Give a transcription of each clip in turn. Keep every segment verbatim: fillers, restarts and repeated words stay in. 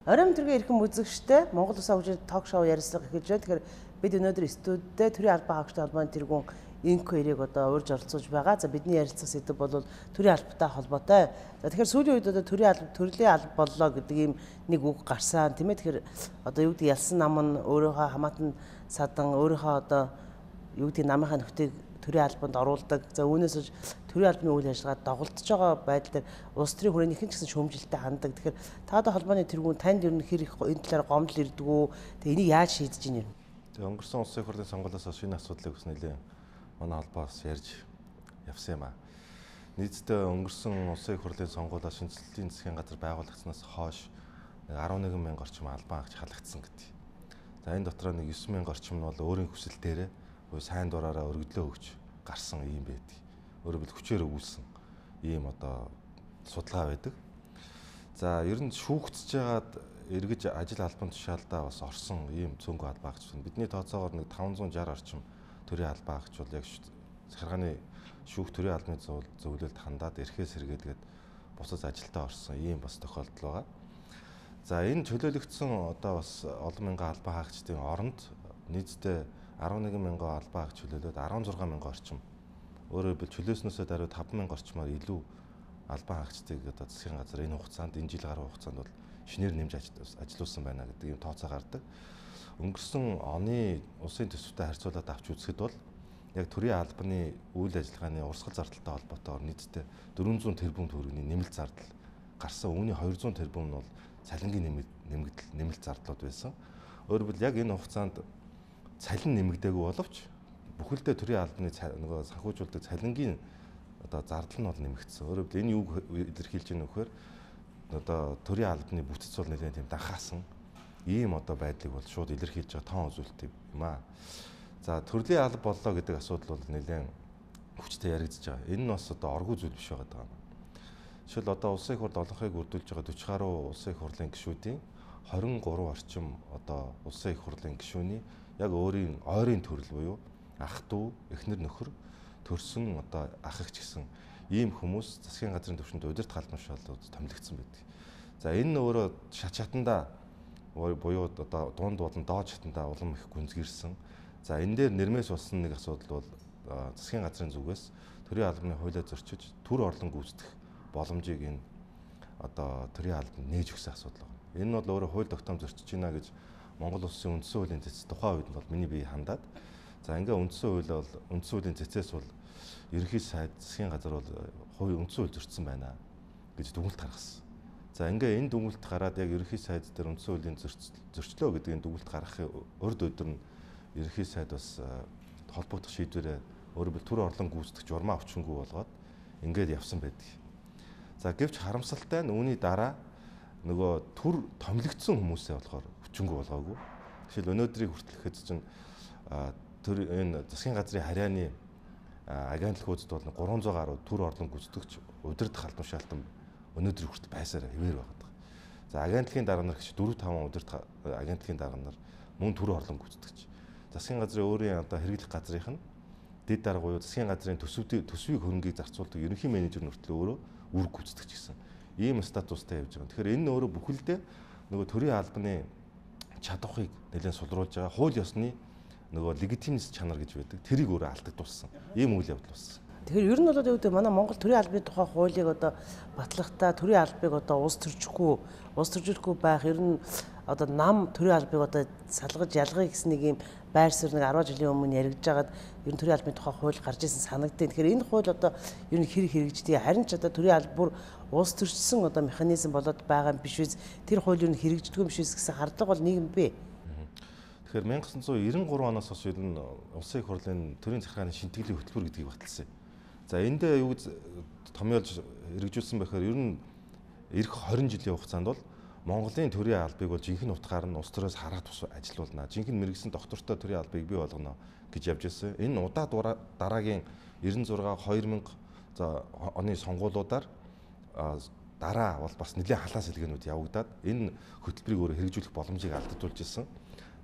Оройн төргийн эрхэм үзэгчтэй Монгол Улсын хөгжлийн ток шоу ярилцлага эхэлж байна. Тэгэхээр бид өнөөдөр студидтэй төрийн албан хаагчдын холбооны тэргүүн Инко эрийг одоо урьж оролцуулж байгаа. За бидний ярилцах сэдэв бол төрийн албатай холбоотой. За тэгэхээр сүүлийн үед одоо төрийн алба төрлийн алба боллоо гэдэг ийм нэг үг гарсан тийм ээ. Тэгэхээр одоо юу гэдэг ялсан нам нь өөрийнхөө хамаатан садан өөрийнхөө одоо юу гэдэг намынхаа нөхцөлийг төрийн албанд оруулдаг. За үүнээс ч төрийн албаны үйл ажиллагаа доголдож байгаа байдал дээр улс төрийн хүрээнийхэн ч гэсэн шүүмжилттэй ханддаг. Тэгэхээр та одоо холбооны тэргүүн танд ер нь хэр их энэ талаар гомдол ирдэг үү? Тэгээ энийг яаж шийдэж ийн юм? Тэгээ өнгөрсөн улсын хурлын сонгуулиас хойш энэ асуудлыг бас нэлээд манай холбоос ярьж явсан юм аа. Нийтдээ өнгөрсөн улсын хурлын сонгуулиас шинжилгээний засгийн газар байгуулагдсанаас хойш арван нэгэн мянган орчим албан хаагч халагдсан гэдэг. За энэ дотор нэг девять мянган орчим нь бол өөрийн хүсэл дээрээ сайн дураараа өргөдлөө өгч гарсан юм байдаг. Өөрөөр хэлбэл хүчээр өгүүлсэн ийм одоо судалгаа байдаг. За ер нь шүүгдсэж байгаад эргэж ажил албан тушаалдаа бас орсон ийм цөөнгөө албан хаагч байна. Бидний тооцоогоор нэг таван зуун шарх орчим төрийн албан хаагч бол яг захиргааны шүүх төрийн албаны зөвлөлд хандаад эрхээс сэргээгээд бусад ажилдаа орсон ийм бас тохиолдол байгаа. За энэ чөлөөлөгдсөн одоо бас олон мянган албан хаагчдын оронд нийтдээ арван нэгэн мянган албан хаагч чөлөөлөөд арван зургаан мянган орчим өөрөөр хэлбэл чөлөөснөөсөө даруй таван мянган орчмоор илүү албан хаагчдыг одоо засгийн газар энэ хугацаанд энэ жил гаруй хугацаанд бол шинээр нэмж ажилуулсан байна гэдэг ийм тооцоо гардаг. Өнгөрсөн оны улсын төсөвтэй харьцуулаад авч үзэхэд бол яг төрийн албаны үйл ажиллагааны урсгал зардалтай холбоотойгоор нийтдээ дөрвөн зуун тэрбум төгрөгийн нэмэлт зардал гарсан. Үүний хоёр зуун тэрбум нь бол цалингийн нэмэгдэл нэмэлт зардлууд байсан. Өөрөөр хэлбэл яг энэ хугацаанд цалин нэмэгдээгүй боловч бүхэлдээ төрийн албаны нөгөө санхүүжүүлдэг цалингийн одоо зардал нь бол нэмэгдсэн. Өөрөөр хэлбэл энэ юуг илэрхийлж байгаа нөхөр одоо төрийн албаны бүтц бол нэлээд тийм данхаасан ийм одоо байдлыг бол шууд илэрхийлж байгаа тоон үзүүлэлт юм аа. За төрлийн алба боллоо гэдэг асуудал бол нэлээд хүчтэй яригдж байгаа. Энэ нь бас одоо оргүй зүйл биш байгаа юм. Жишээл одоо улсын хурд олонхыг үрдүүлж байгаа дөрвөн гаруй улсын их хурлын гишүүдийн хорин гурав орчим одоо улсын их хурлын гишүүний яг өөрийн ойрын төрөл буюу ах дүү, эхнэр нөхөр төрсөн одоо ах эгч гэсэн ийм хүмүүс засгийн газрын түвшинд удирдах албан тушаалууд томилогдсон байдаг. За энэ нь өөрөө шат шатандаа буюу одоо дунд болон доод шатандаа улам их гүнзгийрсэн. За энэ дээр нэрмээс болсон нэг асуудал бол засгийн газрын зүгээс төрийн албаны хуулиа зөрчиж төр орлон гүйцэтгэх боломжийг энэ одоо төрийн албанд нээж өгсөн асуудал байна. Энэ нь бол өөрөө хууль тогтоом зөрчиж байна гэж Монгол Улсын үндсэн хуулийн цэц тухайн үед нь бол миний бие хандаад. За ингээ үндсэн хууль бол үндсэн хуулийн цэцээс бол ерөнхий сайд засгийн газар бол хууль үндсэн хууль зөрчсөн байна гэж дүгнэлт гаргасан. За ингээ энэ дүгнэлт гараад яг ерөнхий сайд дээр үндсэн хуулийн зөрчлөө гэдэг энэ дүгнэлт гаргахын урд өдөр нь ерөнхий сайд бас холбогдох шийдвэрээ өөрөөр хэл төр орлон гүйцэтгэх журмаа өвчнгүй болгоод ингээд явсан байдаг. За гэвч харамсалтай нь үүний дараа нөгөө төр томилогдсон хүмүүсээ болохоор өвчнгүй болгоогүй. Жишээл өнөөдрийг хүртэл хэд чинь төр энэ засгийн газрын харьяаны агентлагуудад бол гурван зуун гаруй төр орлон гүйцэтгэгч удирдах албан тушаалтан өнөөдрийг хүртэл байсаар хэвээр байгаа. За агентлагийн дарга нар гэж дөрвөн таван удирдах агентлагийн дарга нар мөн төр орлон гүйцэтгэгч. Засгийн газрын өөрийн одоо хэрэглэх газрынх нь дэд дарга буюу засгийн газрын төсвийг төсвийг хөрөнгийг зарцуулдаг ерөнхий менежер нөртлөө өөрөө үр гүйцэтгэж гэсэн ийм статустай явж байгаа. Тэгэхээр энэ нь өөрөө бүхэлдээ нөгөө төрийн албаны чадварыг нэлээд сулруулж байгаа. Хууль ёсны нөгөө легитимность чанар гэж байдаг. Тэрийг өөрөө алдагдуулсан. Ийм үйл явдал болсон. Тэгэхээр ер нь бол юу гэдэг манай Монгол төрийн албаны тухай хуулийг одоо батлахдаа төрийн албыг одоо улс төржихгүй, улс төржихгүй байх ер нь одоо нам төрийн албыг одоо салгаж ялгая гэсэн нэг юм байр суурь нэг арван жилийн өмнө яригдж байгаад ер нь төрийн албаны тухай хууль гарч ирсэн санагдтыг. Тэгэхээр энэ хууль одоо ер нь хэрэг хэрэгждэг. Харин ч одоо төрийн алба бүр улс төрчсөн одоо механизм болоод байгаа юм биш үү? Тэр хууль ер нь хэрэгждэг юм биш үү гэсэн хардлага бол нийгэм бий. Тэгэхээр 천ин девятьсот девяносто три оноос хойш ер нь улсын их хурлын төрийн захиргааны шинтгэлийн хөтөлбөр гэдгийг баталсан. За эндээ юу гэж томьёолж хэрэгжүүлсэн байхээр ер нь эх двадцать жилийн хугацаанд бол Монголын төрийн албыг бол жинхэнэ утгаар нь улс төрөөс хараад тус ажилуулна. Жинхэнэ мэрэгсэн доктортой төрийн албыг бий болгоно гэж явж ирсэн. Энэ удаа дараагийн девяносто шесть две мянга за оны сонгуулиудаар дараа бол бас нэлээд халаа сэлгээнүүд явагдаад энэ хөтөлбөрийг өөрөө хэрэгжүүлэх боломжийг алдагдуулж ирсэн.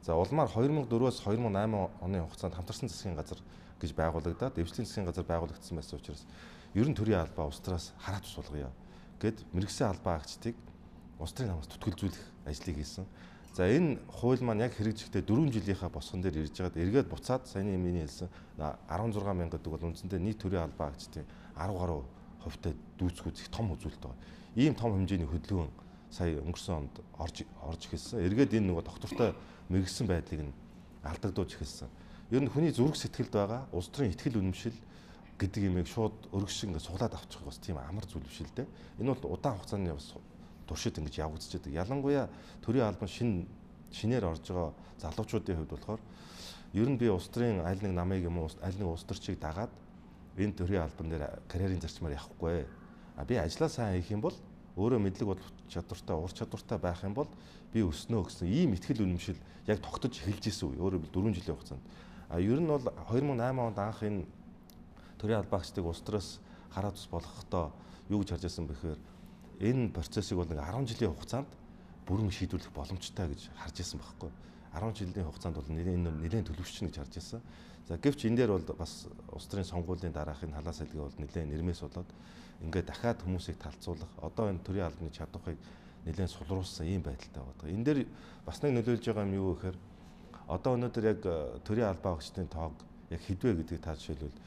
За улмаар две мянга дөрвөөс две мянга восемь оны хугацаанд хамтарсан засгийн газар гэж байгуулагдаад эвслийн засгийн газар байгуулагдсан байсан учраас ер нь төрийн албаа улс төрөөс хараад тус болгоё гэд мэрэгсэн албан хаагчдыг улс төрийн намаас түтгэлзүүлэх ажлыг хийсэн. За энэ хууль маань яг хэрэгжихдээ дөрвөн жилийнхаа босгон дээр ирж байгаад эргээд буцаад саяны миний хэлсэн арван зургаан мянга гэдэг бол үндсэндээ нийт төрийн албаа агчдын арав гаруй хувьтай дүүцгүүд их том үзүүлэлт байгаа. Ийм том хэмжээний хөдөлгөөн сая өнгөрсөн онд орж орж эхэлсэн. Эргээд энэ нөгөө доктортой мэрэгсэн байдлыг нь алдагдуулж эхэлсэн. Ер нь хүний зүрх сэтгэлд байгаа улс төрийн итгэл үнэмшил гэдэг юмыг шууд өргөшин ингээд суглаад авчих бас тийм амар зүйл биш л дээ. Энэ бол удаан хугацааны бас туршид ингэж явагдчихдаг. Ялангуяа төрийн албан шин шинээр орж байгаа залуучуудын хувьд болохоор ер нь би улс төрийн аль нэг намыг юм уу аль нэг улс төрчийг дагаад энэ төрийн албан дээр карьерийн зарчмаар явахгүй. А би ажлаа сайн хийх юм бол өөрөө мэдлэг бол чадвартай, ур чадвартай байх юм бол би өснөө гэсэн ийм итгэл үнэмшил яг тогтож эхэлж исэн үе. Өөрөөр хэлбэл дөрвөн жилийн хугацаанд. А ер нь бол хоёр мың и осем онд анх энэ төрийн албаагчдыг улс төрөөс хараад ус болгохдоо юу гэж харж байсан бэхээр энэ процессыг бол нэг арван жилийн хугацаанд бүрэн шийдвэрлэх боломжтой гэж харж байсан байхгүй. арван жилийн хугацаанд бол нэлээд нэлээд төлөвшчин гэж харж байсан. За гэвч энэ дээр бол бас улс төрийн сонгуулийн дараахын халаа салгий бол нэлээд нэрмээс болоод ингээд дахиад хүмүүсийг талцуулах одоо энэ төрийн албаны чадварыг нэлээд сулруулсан ийм байдалтай байдаг. Энэ дээр бас нэг нөлөөлж байгаа юм юу гэхээр одоо өнөөдөр яг төрийн албаа агчдын тоог яг хэдвэ гэдгийг та жишээлбэл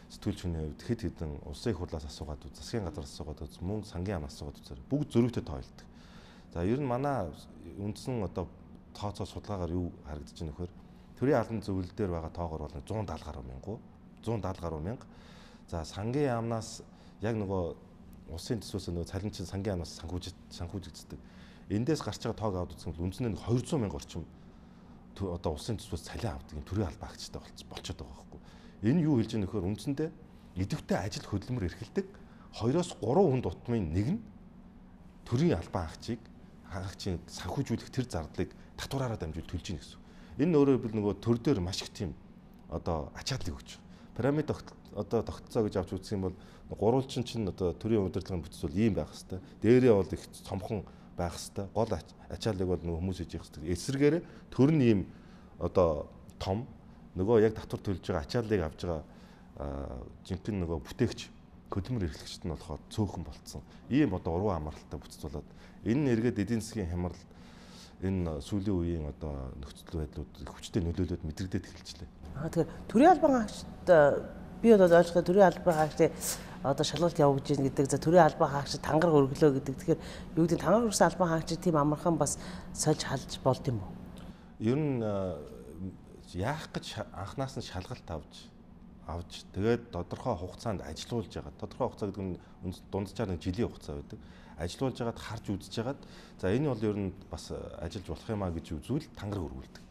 сэтгүүлч хүний хувьд хэд хэдэн улсын их хурлаас асуугаад үз, засгийн газраас асуугаад үз, мөн сангийн амнаас асуугаад үзээр бүгд зөрүүтэй тойлдог. За ер нь манай үндсэн одоо тооцоо судалгаагаар юу харагдаж байна вэхээр төрийн албан зөвлөл дээр байгаа тоогоор бол зуун даатал гаруй мянган, зуун даатал гаруй мянга. За сангийн амнаас яг нөгөө улсын төсвөөс нөгөө цалинчин сангийн амнаас санхүүж санхүүжигддэг. Эндээс гарч байгаа тоог аваад үзсэн бол үндсэндээ двести мянга орчим одоо улсын төсвөөс цалин авдаг юм төрийн албаа агчтай болчиход байгаа байхгүй. Энэ юу хэлж байгаа нөхөр үндсэндээ идэвхтэй ажил хөдөлмөр эрхэлдэг хоёроос гурван хүн дутмын нэг нь төрийн албан агчийг хаагчийн санхүүжүүлэх тэр зардлыг татвараараа дамжуул төлж ийн гэсэн. Энэ өөрөөр хэлбэл нөгөө төр дээр маш их тийм одоо ачааллыг өгч байгаа. Пирамид одоо тогтцоо гэж авч үзэх юм бол гурвалжин чинь одоо төрийн удирдлагын бүтц бол ийм байх хэвээр. Дээрээ бол их цомхон байх хэвээр. Гол ачааллыг бол нөгөө хүмүүс хийж явах хэвээр. Эсрэгээр төр нь ийм одоо том нөгөө яг татвар төлж байгаа ачааллыг авж байгаа жинхэнэ нөгөө бүтээгч хөдөлмөр эрхлэгчд нь болохоор цөөхөн болцсон. Ийм одоо урван амралтай бүтц болоод энэ нь эргээд эдийн засгийн хямрал энэ сүүлийн үеийн одоо нөхцөл байдлууд хүчтэй нөлөөлөд мэдрэгдээд эхэлжлээ. Аа тэгэхээр төрийн албан агчд би бол ойлгоход төрийн албан агчдыг одоо шалгалт явуулж ийн гэдэг за төрийн албан агчид тангараг өргөлөө гэдэг. Тэгэхээр юу гэдэг тангараг өргөсөн албан агчид тийм амархан бас сольж халж болд юм уу? Ер нь яах гэж анханаас нь шалгалт авч авч тэгээд тодорхой хугацаанд ажилуулж байгаа. Тодорхой хугацаа гэдэг нь дунджаар нэг жилийн хугацаа байдаг. Ажилуулж байгаад харж үзэж байгаад за энэ бол ер нь бас ажиллаж болох юм а гэж үзвэл тангараг өргүүлдэг.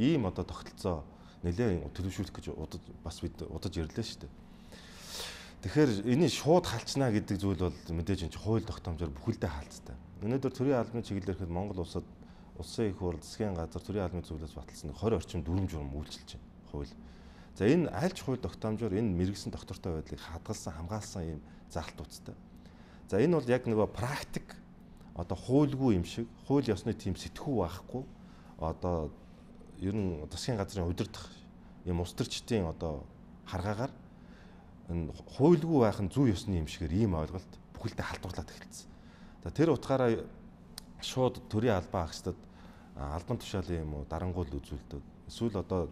Ийм одоо тогтолцоо нэлээд төлөвшүүлэх гэж удаж бас бид удаж ирлээ шүү дээ. Тэгэхээр энийг шууд халчнаа гэдэг зүйл бол мэдээж энэ хууль тогтоомжоор бүхэлдээ хаалцтай. Өнөөдөр төрийн албаны чиглэлээр хэд Монгол улсад улсын их хурл засгийн газар төрийн албаны зөвлөлөөс баталсан двадцать орчим дүрм журам үйлчилж байна хууль. За энэ альч хууль тогтоомжоор энэ мэрэгсэн доктортой байдлыг хадгалсан хамгаалсан ийм заалтуудтай. За энэ бол яг нөгөө практик одоо хуульгүй юм шиг хууль ёсны тийм сэтгүү байхгүй одоо ер нь засгийн газрын удирдах юм улс төрчдийн одоо харгаагаар энэ хуульгүй байх нь зөв ёсны юм шигээр ийм ойлголт бүхэлдээ халдварлаад эхэлсэн. За тэр утгаараа шууд төрийн албан агчдад албан тушаалын юм уу дарангуул үзүүлдэг. Эсвэл одоо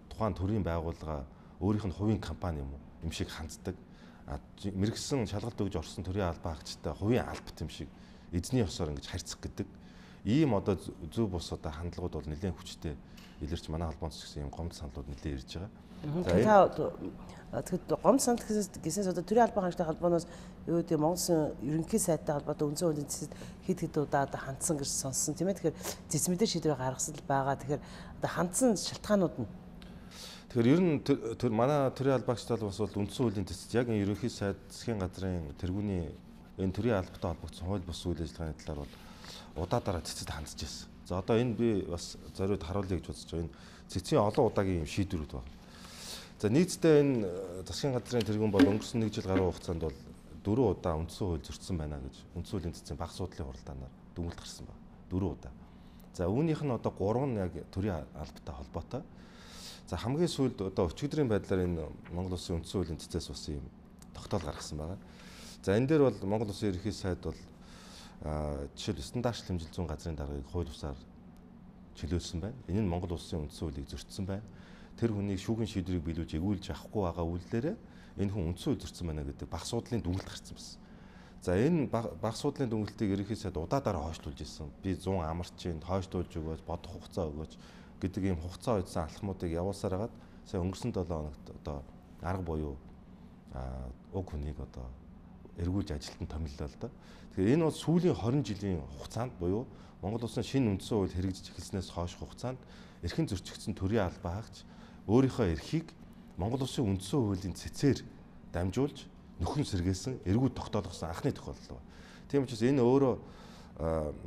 тухайн төрийн байгууллага өөрийнх нь хувийн компани юм уу юм шиг ханддаг. Мэргэсэн шалгалт өгж орсон төрийн албан агчтай хувийн албат юм шиг эзний ёсоор ингэж харьцах гэдэг ийм одоо зөв бус одоо хандлагууд бол нэлээд хүчтэй илэрч манай холбооноос гэсэн юм гомд саналууд нэлээд ирж байгаа. За тэгэхэд гомд санал гэсээс одоо төрийн албан агчтай холбооноос юу гэдэг Монголын ерөнхий сайтай холбоотой үндсэн хуулийн зэцэд хэд хэд удаа одоо хандсан гэж сонссон тийм ээ. Тэгэхээр зэцмэдэр шийдвэр гаргасан л байгаа. Тэгэхээр одоо хандсан шалтгаанууд нь Тэгэхээр ер нь тэр манай төрийн албан агчтай бас бол үндсэн хуулийн зэцэд яг энэ ерөнхий сайд засгийн газрын тэргүүний энэ төрийн албатай холбогдсон хууль бус үйл ажиллагааны талаар бол удаа дараа цэцэд хандж ирсэн. За одоо энэ би бас зориуд харуулъя гэж бодож байгаа. Энэ цэцгийн олон удаагийн юм шийдвэрүүд байна. За нийтдээ энэ засгийн газрын тэргүүн бол өнгөрсөн нэг жил гаруй хугацаанд бол дөрвөн удаа үндсэн хууль зөрчсөн байна гэж үндсэн хуулийн цэцгийн баг суудлын хуралдаанаар дүгнэлт гарсан байна. Дөрвөн удаа. За үүнийх нь одоо гурав нь яг төрийн албатай холбоотой. За хамгийн сүүлд одоо өчигдрийн байдлаар энэ Монгол Улсын үндсэн хуулийн цэцээс бас юм тогтоол гаргасан байна. За энэ дээр бол Монгол Улсын ерөнхий сайд бол жишээл стандартчлал хэмжил зүйн газрын даргыг хууль бусаар чөлөөлсөн байна. Энэ нь Монгол улсын үндсэн хуулийг зөрчсөн байна. Тэр хүнийг шүүхийн шийдвэрийг биелүүлж эгүүлж авахгүй байгаа үйлдэлээр энэ хүн үндсэн хууль зөрчсөн байна гэдэг баг суудлын дүгнэлт гарсан байсан. За энэ баг суудлын дүгнэлтийг ерөнхий сайд удаадараа хойшлуулж ирсэн. Би зүүн амарчин хойшлуулж өгөөч, бодох хугацаа өгөөч гэдэг ийм хугацаа үйдсэн алхмуудыг явуулсаар хагаад сая өнгөрсөн долоо хоногт одоо арга буюу уг хүнийг одоо эргүүлж ажилтан томиллоо л да. Тэгэхээр энэ бол сүүлийн хорин жилийн хугацаанд буюу Монгол улсын шинэ үндсэн хууль хэрэгжиж эхэлснээс хойш хугацаанд эрхэн зөрчигдсөн төрийн албаа хаагч өөрийнхөө эрхийг Монгол улсын үндсэн хуулийн цэцээр дамжуулж нөхөн сэргээсэн эргүүд тогтоолгосон анхны тохиолдол байна. Тийм учраас энэ өөрөө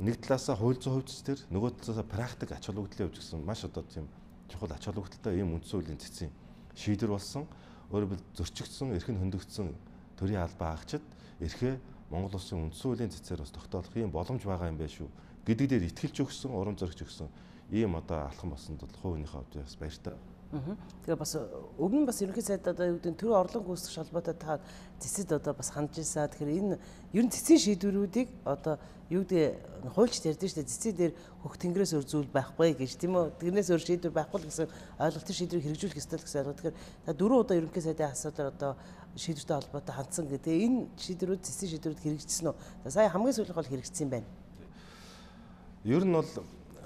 нэг талаасаа хууль зүйн хувьд төр нөгөө талаасаа практик ач холбогдлын хувьд гэсэн маш одоо тийм чухал ач холбогдолтой ийм үндсэн хуулийн цэцийн шийдвэр болсон. Өөрөөр хэлбэл зөрчигдсөн эрхэн хөндөгдсөн төрийн албаа хаагчид эрхээ Монгол улсын үндсэн хуулийн цэцээр бас тогтоолох ийм боломж байгаа юм байна шүү гэдэг дээр итгэлж өгсөн, урам зоригч өгсөн ийм одоо алхам басанд бол хувийнхээ хувьд бас баяртай. Тэгээ бас өг нь бас ерөнхий сайд одоо юу гэдэг төрийн орлон гүйцэтгэх холбоотой та цэцэд одоо бас хандж ийсаа. Тэгэхээр энэ ер нь цэцийн шийдвэрүүдийг одоо юу гэдэг хуульчд ярьдэн шүү дээ. Цэцэн дээр хөх тэнгэрээс өөр зүйл байхгүй гэж тийм үү. Тэрнээс өөр шийдвэр байхгүй л гэсэн ойлголт шийдвэрийг хэрэгжүүлэх ёстой л гэсэн ойлголт. Тэгэхээр та дөрөв удаа ерөнхий сайдын асуудал одоо шийдвэртэй холбоотой хандсан гэдэг. Энэ шийдвэрүүд цэцэн шийдвэрүүд хэрэгжижсэн үү? За сая хамгийн сүүлийнх бол хэрэгжсэн юм байна. Ер нь бол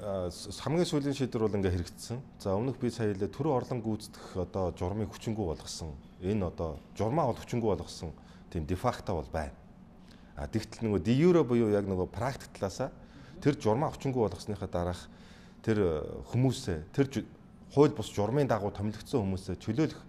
хамгийн сүүлийн шийдвэр бол ингээ хэрэгжсэн. За өмнөх би сая хэлээ төрийн орлон гүйцэтгэх одоо журмыг хүчингү болгосон. Энэ одоо журмаа бол хүчингү болгосон тийм дефакто бол байна. А тэгтэл нөгөө де юре буюу яг нөгөө практик талаасаа тэр журмаа хүчингү болгосныхаа дараах тэр хүмүүсээ тэр хууль бус журмын дагуу томилогдсон хүмүүсээ чөлөөлөх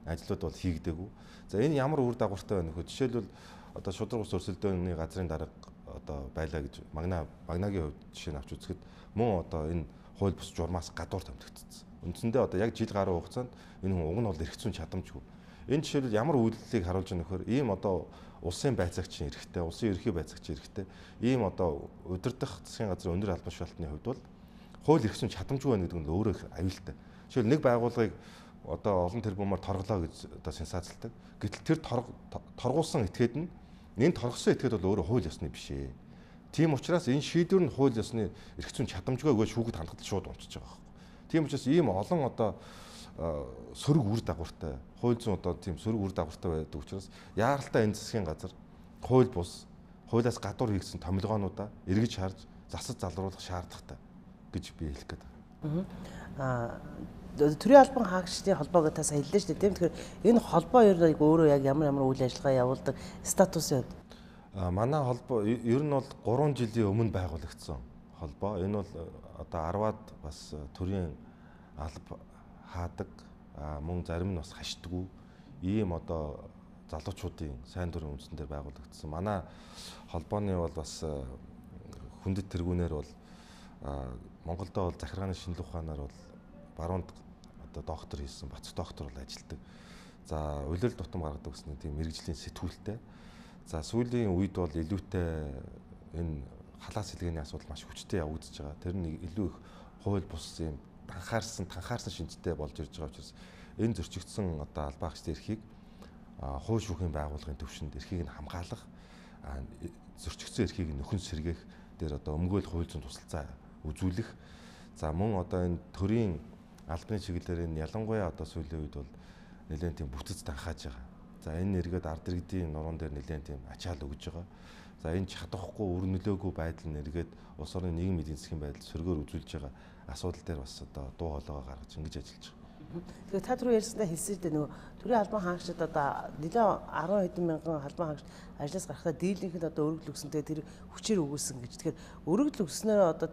ажлууд бол хийгдээгүй. За энэ ямар үр дагавартай байна вэ? Жишээлбэл одоо шудраг ус өрсөлдөөний газрын дарга одоо байлаа гэж магна магнагийн хувьд жишээ нь авч үзэхэд мөн одоо энэ хууль бус журмаас гадуур томилогдсон. Үндсэндээ одоо яг жил гаруй хугацаанд энэ хүн уг нь бол эрх зүйн чадамжгүй. Энэ жишээлбэл ямар үйлдэлийг харуулж байгаа нөхөр ийм одоо улсын байцаагчийн эрхтэй, улсын ерхий байцаагчийн эрхтэй ийм одоо удирдах засгийн газрын өндөр албан тушаалтны хувьд бол хууль эрх зүйн чадамжгүй байна гэдэг нь өөрөө их аюултай. Жишээл нэг байгууллагыг одоо олон тэрбумаар торглоо гэж одоо сенсацлдаг. Гэтэл тэр торгуулсан этгээд нь энэ торгосон этгээд бол өөрөө хууль ёсны биш ээ. Тийм учраас энэ шийдвэр нь хууль ёсны эрх зүйн чадамжгүй гэж шүүхэд хандгалт шууд унчиж байгаа байхгүй. Тийм учраас ийм олон одоо сөрөг үр дагавартай хууль зүйн одоо тийм сөрөг үр дагавартай байдаг учраас яаралтай энэ засгийн газар хууль бус хуулиас гадуур хийгдсэн томилгоонуудаа эргэж харж засаж залруулах шаардлагатай гэж би хэлэх гээд байна. Аа төрийн албан хаагчдын холбоог та сайн хэллээ шүү дээ тийм. Тэгэхээр энэ холбоо өөрөө яг ямар ямар үйл ажиллагаа явуулдаг статусын хувьд манай холбоо ер нь бол гурван жилийн өмнө байгуулагдсан холбоо. Энэ бол одоо арваад бас төрийн алба хаадаг мөн зарим нь бас хашдаггүй ийм одоо залуучуудын сайн дурын үндсэн дээр байгуулагдсан. Манай холбооны бол бас хүндэт тэргүүнээр бол Монголдо бол захиргааны шинжилгээ ухаанаар бол баруунд одоо доктор хийсэн, бацх доктор бол ажилтдаг. За улирал тутам гаргадаг гэсэн тийм мэрэгжлийн сэтгүүлтэй. За сүүлийн үед бол илүүтэй энэ халаас хэлгээний асуудал маш хүчтэй явагдаж байгаа. Тэр нь илүү их хууль бус юм танхаарсан, танхаарсан шинжтэй болж ирж байгаа учраас энэ зөрчигдсөн одоо албаа хаагчдын эрхийг хууль шүүхийн байгууллагын төвшөнд эрхийг нь хамгаалах, зөрчигдсөн эрхийг нөхөн сэргээх дээр одоо өмгөөл хууль зүйн тусалцаа үзүүлэх. За мөн одоо энэ төрийн албаны чиглэлээр энэ ялангуяа одоо сүүлийн үед бол нэлээд тийм бүтэц танхааж байгаа. За энэ нэргээд ард иргэдийн нуруунд дээр нэлээд тийм ачаал өгж байгаа. За энэ чадахгүй үр нөлөөгүй байдал нэргээд улс орны нийгмийн эдийн засгийн байдал сөргөөр үзүүлж байгаа асуудал дээр бас одоо дуу хоолойгоо гаргаж ингэж ажиллаж байгаа. Тэгэхээр та түрүү ярьсандаа хэлсэн дээ нөгөө төрийн албан хаагчид одоо нэлээд арван хэдэн мянган албан хаагч ажлаас гарахтаа дийлэнхэд одоо өргөдөл өгсөнтэй тэр хүчээр өгүүлсэн гэж. Тэгэхээр өргөдөл өгснөөр одоо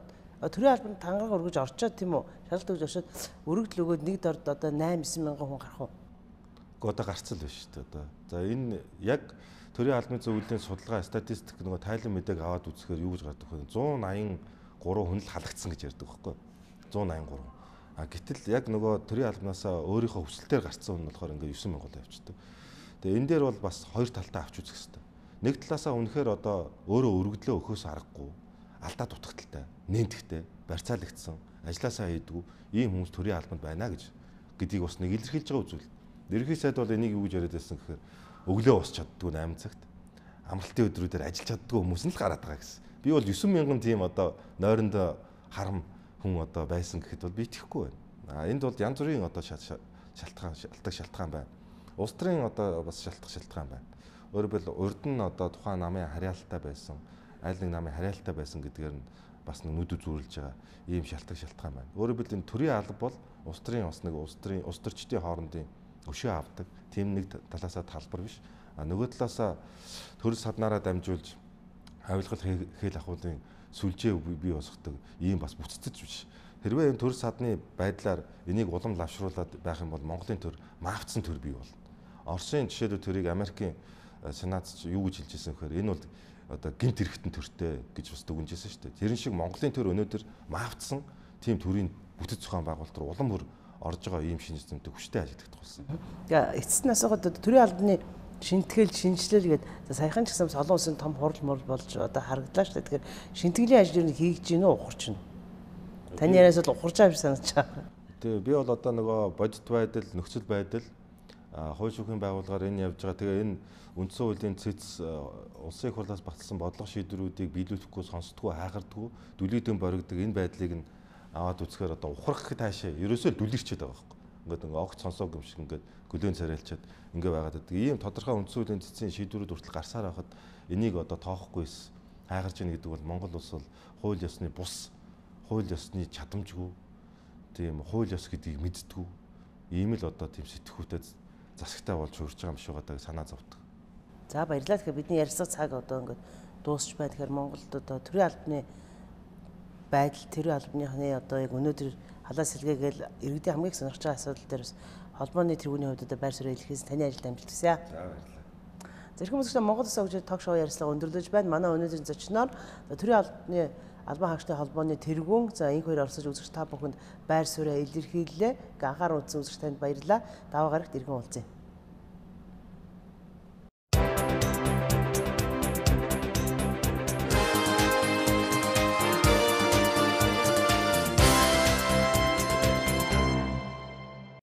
төрийн албанд тангараг өргөж орчоод тийм үү? Шалгалт өгж орчоод өргөдөл өгөөд нэг дорд одоо найман девять мянган хүн гарах уу? Одоо гарцал биш шүү дээ одоо. За энэ яг төрийн албаны зөвлөлийн судалгаа статистик нөгөө тайлан мэдээг аваад үзэхээр юу гэж гардаг вэ? зуун аян гурван хүн л халагдсан гэж ярьдаг байхгүй юу? зуун аян гурван. А гэтэл яг нөгөө төрийн албанасаа өөрийнхөө хүсэлтээр гарцсан хүн болохоор ингээд девять мянган явчихдаг. Тэгээ энэ дээр бол бас хоёр талтай авч үзэх хэрэгтэй. Нэг талаасаа үнэхээр одоо өөрөө өргөдлөө өгөхөөс аргагүй, алдаа дутагдaltaй, нэмтгтэй, барьцаалагдсан, ажилласаа хийдгүү ийм хүмүүс төрийн албанд байна гэж гэдгийг бас нэг илэрхийлж байгаа үзүүл. Ерөнхий сайд бол энийг юу гэж яриад байсан гэхээр өглөө ус чаддгүй восемь цагт. амралтын өдрүүдээр ажиллаж чаддгүй хүмүүс нь л гараад байгаа гэсэн. Би бол девять мянган тийм одоо нойрондоо харам хүн одоо байсан гэхэд бол би итгэхгүй байна. А энд бол янз бүрийн одоо шалтгаан шалтгаан шалтгаан байна. Улс төрийн одоо бас шалтгаан шалтгаан байна. Өөрөөр хэлбэл урд нь одоо тухайн намын харьяалтай байсан, аль нэг намын харьяалтай байсан гэдгээр нь бас нэг нүд үзүүлж байгаа ийм шалтгаан шалтгаан байна. Өөрөөр хэлбэл энэ төрийн алба бол улс төрийн бас нэг улс төрийн улс төрчдийн хоорондын өшөө авдаг. Тийм нэг талаасаа талбар биш. А нөгөө талаасаа төр саднараа дамжуулж авилгал хээл ахуулын сүлжээ бий босгодог ийм бас бүтцэж биш. Хэрвээ энэ төр садны байдлаар энийг улам лавшруулад байх юм бол Монголын төр маавцсан төр бий болно. Оросын жишээлбэл төрийг Америкийн сенатч юу гэж хэлж ирсэн гэхээр энэ бол одоо гинт хэрэгтэн төртэй гэж бас дүгнжсэн шүү дээ. Тэрэн шиг Монголын төр өнөөдөр маавцсан тийм төрийн бүтэц зохион байгуулалт руу улам бүр орж байгаа ийм шинж тэмдэг хүчтэй ажиллагдах болсон. Тэгээ эцэст нь асуугаад төрийн албаны шинтгэл шинжилэл гэдэг саяхан ч гэсэн олон улсын том хурал мурал болж одоо харагдлаа шүү дээ. Тэгэхээр шинтгэлийн ажил юу хийж гин үү ухарч нь. Таны яриас бол ухарч байгаа юм санаж байгаа. Тэгээ би бол одоо нөгөө бодит байдал, нөхцөл байдал, хууль шүүхийн байгууллагаар энэ явж байгаа. Тэгээ энэ үндсэн хуулийн цэц улсын их хурлаас баталсан бодлого шийдвэрүүдийг биелүүлэхгүй, сонсдоггүй, хайхардаггүй, дүлийдэн боригдог энэ байдлыг нь аваад үзэхээр одоо ухрах гэхэд хаашаа ерөөсөө дүлэрчээд байгаа байхгүй. Ингээд ингээ огт сонсоог юм шиг ингээд гөлөөн царайлчаад ингээ байгаад байдаг. Ийм тодорхой үндсэн хуулийн цэцийн шийдвэрүүд хүртэл гарсаар байхад энийг одоо тоохохгүйс хайгарч ийн гэдэг бол Монгол улс бол хууль ёсны бус, хууль ёсны чадамжгүй, тийм хууль ёс гэдгийг мэддэггүй. Ийм л одоо тийм сэтгхүүтэй засагтай болж хөрж байгаа юм шиг байгаа санаа зовдөг. За баярлалаа. Тэгэхээр бидний ярьсан цаг одоо ингээд дуусч байна. Тэгэхээр Монголд одоо төрийн албаны байдал, төрийн албаныхны одоо яг өнөөдөр халаа сэлгээгээл иргэдийн хамгийн их сонирхож байгаа асуудал дээр бас холбооны тэргүүний хувьд одоо байр суурь илэрхийлсэн таны ажилд амжилт хүсье. За баярлалаа. Зэрхэн үзэгчдээ Монгол Улс хөгжил ток шоу ярилцлага өндөрлөж байна. Манай өнөөдрийн зочноор төрийн албаны албан хаагчдын холбооны тэргүүн за энэ хоёр орсож үзэгч та бүхэнд байр суурь илэрхийллээ. Анхаарал үзсэн үзэгч танд баярлалаа. Даваа гарагт иргэн уулзъя.